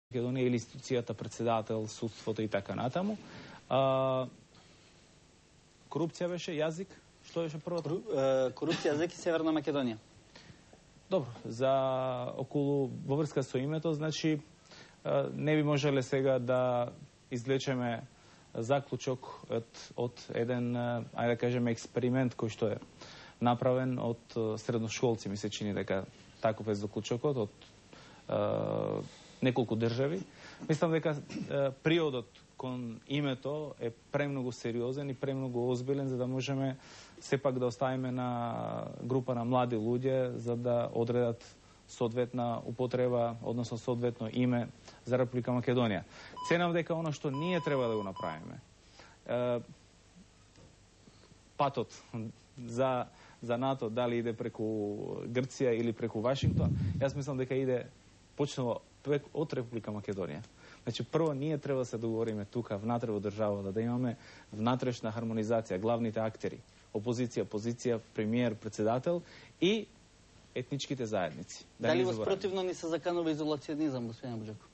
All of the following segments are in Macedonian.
Македонија или институцијата, председател, судството и така натаму. Корупција беше јазик, што беше првото? Корупција, јазик и Северна Македонија. Добро, за околу во врска со името, значи не би можеле сега да извлечеме заклучок од еден, ајде да кажеме, експеримент кој што е направен од средношколци, ми се чини дека таков е заклучокот од неколку држави. Мислам дека приодот кон името е премногу сериозен и премногу озбилен за да можеме сепак да оставиме на група на млади луѓе за да одредат соодветна употреба, односно соодветно име за Република Македонија. Ценам дека оно што ние треба да го направиме, патот за НАТО, дали иде преку Грција или преку Вашингтон, јас мислам дека иде почнало од Република Македонија. Значи, прво ние треба да се договориме тука, внатре во државата, да имаме внатрешна хармонизација, главните актери, опозиција, позиција, премиер, председател и етничките заедници. Дали воспротивно ни се заканува изолационизам, господин Буџаков?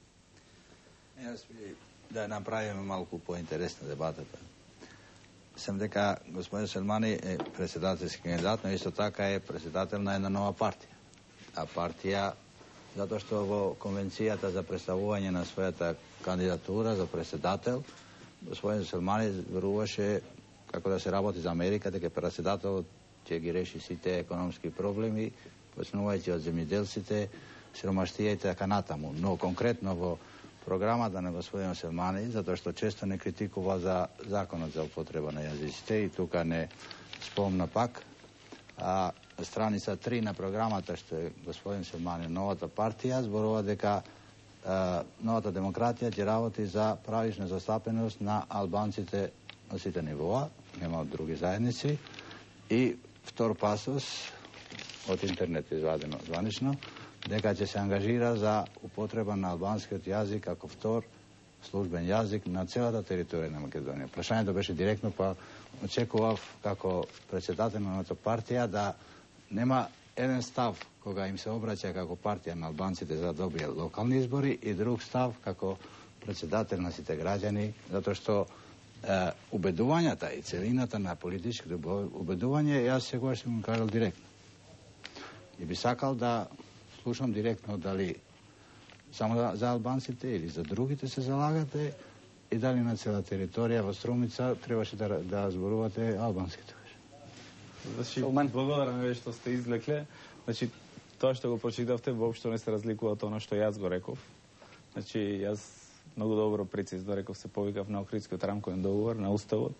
Јас би да направиме малку поинтересна дебатата. Сам дека господин Селмани е председателски кандидат, но исто така е председател на една нова партија. А партија затоа што во конвенцијата за представување на својата кандидатура за председател, господин Селмани веруваше како да се работи за Америка, дека председателот ќе ги реши сите економски проблеми, почнувајќи од земјоделците, сиромаштија и така натаму. Но конкретно во програмата на господин Селмани, затоа што често не критикува за законот за употреба на јазиците и тука не спомна пак, страница 3 на програмата што е господин Селмани, новата партија, зборува дека новата демократија ќе работи за правична застапеност на албанците на сите нивоа, нема од други заедници, и втор пасос од интернет извадено званично, дека ќе се ангажира за употреба на албанскиот јазик како втор службен јазик на целата територија на Македонија. Прашањето беше директно, па очекував како председател на новата партија да нема еден став кога им се обраќа како партија на албанците за да добијат локални избори и друг став како председател на сите граѓани, затоа што убедувањата и целината на политичките убедување, јас сегаш ќе му кажал директно. И би сакал да слушам директно дали само за албанците или за другите се залагате и дали на цела територија во Струмица требаше да зборувате албанските. Значи, благодарам ве што сте излекле. Значи, тоа што го прочитавте воопшто не се разликува од она што јас го реков. Значи, јас многу добро прецизно реков, се повикав на Охридскиот рамковен договор, на Уставот,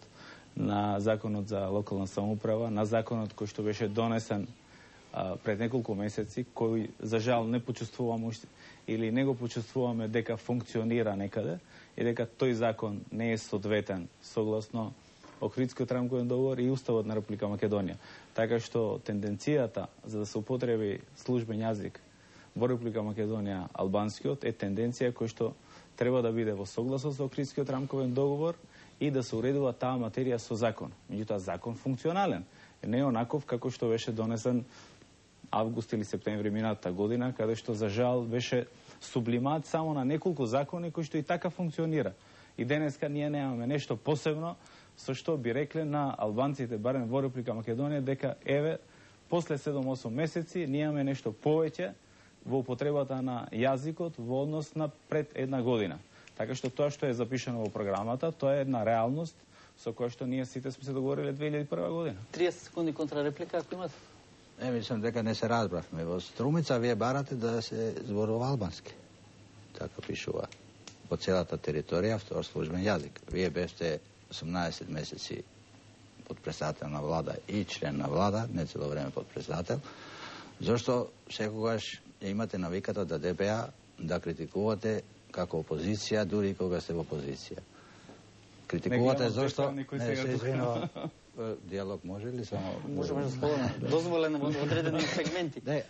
на Законот за локална самоуправа, на законот кој што беше донесен пред неколку месеци, кој за жал не почувствувам или не го почувствуваме дека функционира некаде и дека тој закон не е соодветен согласно Охридскиот рамковен договор и Уставот на Република Македонија. Така што тенденцијата за да се употреби службен јазик во Република Македонија албанскиот е тенденција која што треба да биде во согласност со Охридскиот рамковен договор и да се уредува таа материја со закон. Меѓутоа закон функционален, не е онаков како што беше донесен август или септември минатата година, каде што за жал беше сублимат само на неколку закони кои што и така функционира. И денеска ние немаме нешто посебно со што би рекле на албанците, барем во Република Македонија, дека еве, после 7-8 месеци, ние имаме нешто повеќе во употребата на јазикот во однос на пред една година. Така што тоа што е запишано во програмата, тоа е една реалност со која што ние сите сме се договориле 2001 година. 30 секунди контрареплика, ако имате. Мислам дека не се разбравме. Во Струмица вие барате да се зборува албански. Така пишува. По целата територија, втор службен јазик. Вие бевте 18 месеци подпредседател на влада и член на влада, не цело време подпредседател, зашто секогаш имате навиката да ДПА да критикувате како опозиција, дури и кога сте во опозиција. Критикувате зашто не се извинува. Диалог може ли само? Можеме слободно. Дозволено во одредени сегменти. Не,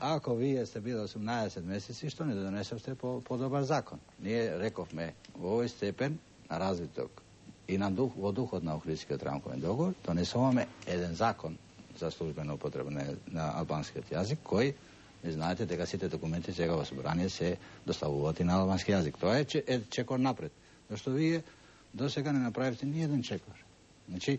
ако вие сте били 18 месеци, што не донесевте по-добар закон? Ние рековме во овој степен на развиток и на во духот на Охридскиот рамковен договор, донесуваме еден закон за службена употреба на албанскиот јазик, кој Ви знаете дека сите документи сега во собрание се доставуваат и на албански јазик. Тоа е чекор напред. Зашто вие до сега не направивте ни еден чекор. Значи,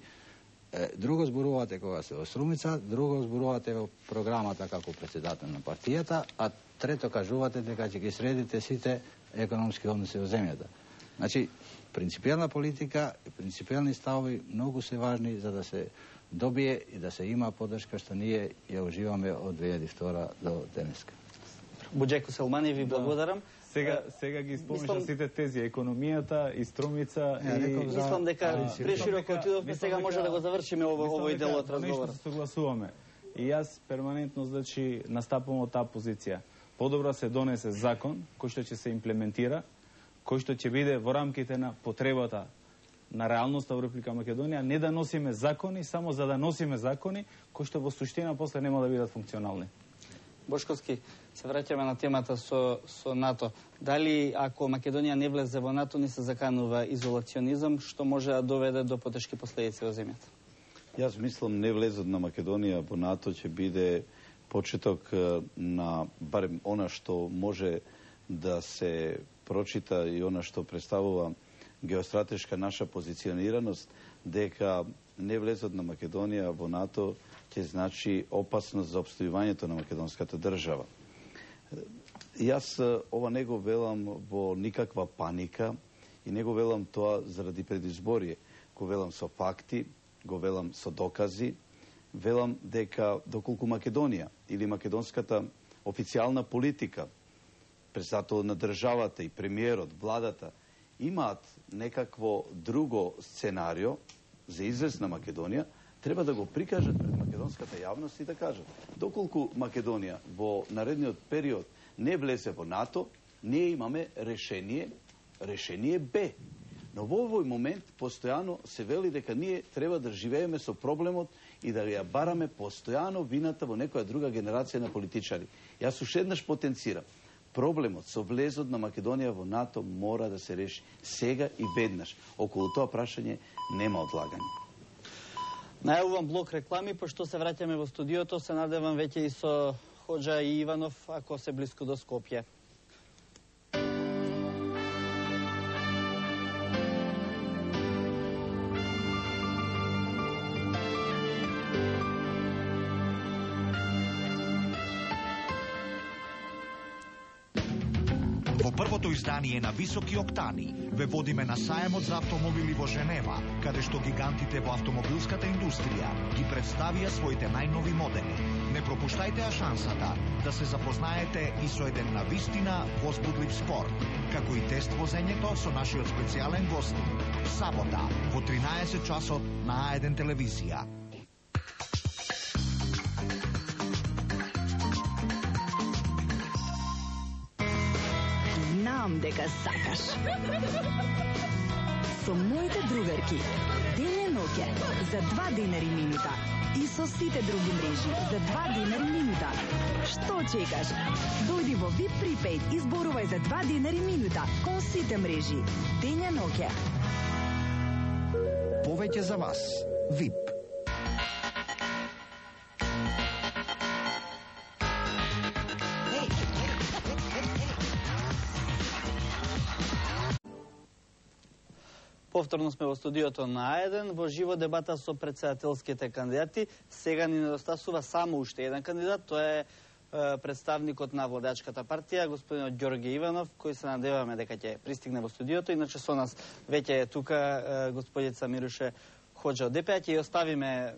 друго зборувате кога се во Струмица, друго зборувате во програмата како председател на партијата, а трето кажувате дека ќе ги средите сите економски односи во земјата. Значи, принципијална политика и принципијални ставови многу се важни за да се добие и да се има поддршка што ние ја уживаме од 2002 до денеска. Буџеко Селмани, ви благодарам. Сега ги спомниш сите тези, економијата и Струмица и... Мислам дека прешироко отидовме, сега може да го завршиме овој дел од разговорот. Нешто се согласуваме. И јас перманентно, значи, настапувам од таа позиција. Подобро се донесе закон кој што ќе се имплементира, кој што ќе биде во рамките на потребата на реалноста во Република Македонија, не да носиме закони само за да носиме закони кои што во суштина после нема да бидат функционални. Бошковски, се враќаме на темата со НАТО. Дали ако Македонија не влезе во НАТО, не се заканува изолационизам, што може да доведе до потешки последици во земјата? Јас мислам не влезот на Македонија во НАТО ќе биде почеток на барем она што може да се прочита и она што представува геостратешка наша позиционираност, дека не влезот на Македонија во НАТО ќе значи опасност за опстојувањето на македонската држава. Јас ова не го велам во никаква паника и не го велам тоа заради предизборие. Го велам со факти, го велам со докази. Велам дека доколку Македонија или македонската официјална политика, председател на државата и премиерот, владата, имаат некакво друго сценарио за излез на Македонија, треба да го прикажат пред македонската јавност и да кажат доколку Македонија во наредниот период не влезе во НАТО, ние имаме решение Б. Но во овој момент постојано се вели дека ние треба да живееме со проблемот и да ја бараме постојано вината во некоја друга генерација на политичари. Јас уште еднаш потенцирам. Проблемот со влезот на Македонија во НАТО мора да се реши сега и веднаш. Околу тоа прашање нема одлагање. Најавувам блок реклами, пошто се враќаме во студиото, се надевам веќе и со Хоџа и Иванов, ако се блиску до Скопје. Во првото издание на Високи октани ве водиме на саемот за автомобили во Женева, каде што гигантите во автомобилската индустрија ги представија своите најнови модели. Не пропуштајте шансата да се запознаете и со еден навистина возбудлив спорт, како и тест возењето со нашиот специјален гост. Сабота во 13 часот на А1 телевизија. Знам дека сакаш. Со моите другарки, ден и ноќе, за 2 денари минута. И со сите други мрежи, за 2 денари минута. Што чекаш? Дојди во VIP Prepaid и зборувај за 2 денари минута. Кон сите мрежи, ден и ноќе. Повеќе за вас. VIP. Повторно сме во студиото на А1, во живо дебата со председателските кандидати. Сега ни недостасува само уште еден кандидат, тоа е представникот на владачката партија, господинот Ѓорѓе Иванов, кој се надеваме дека ќе пристигне во студиото. Иначе со нас веќе е тука господица Мируше Хоџа од ДП. Ќе ја оставиме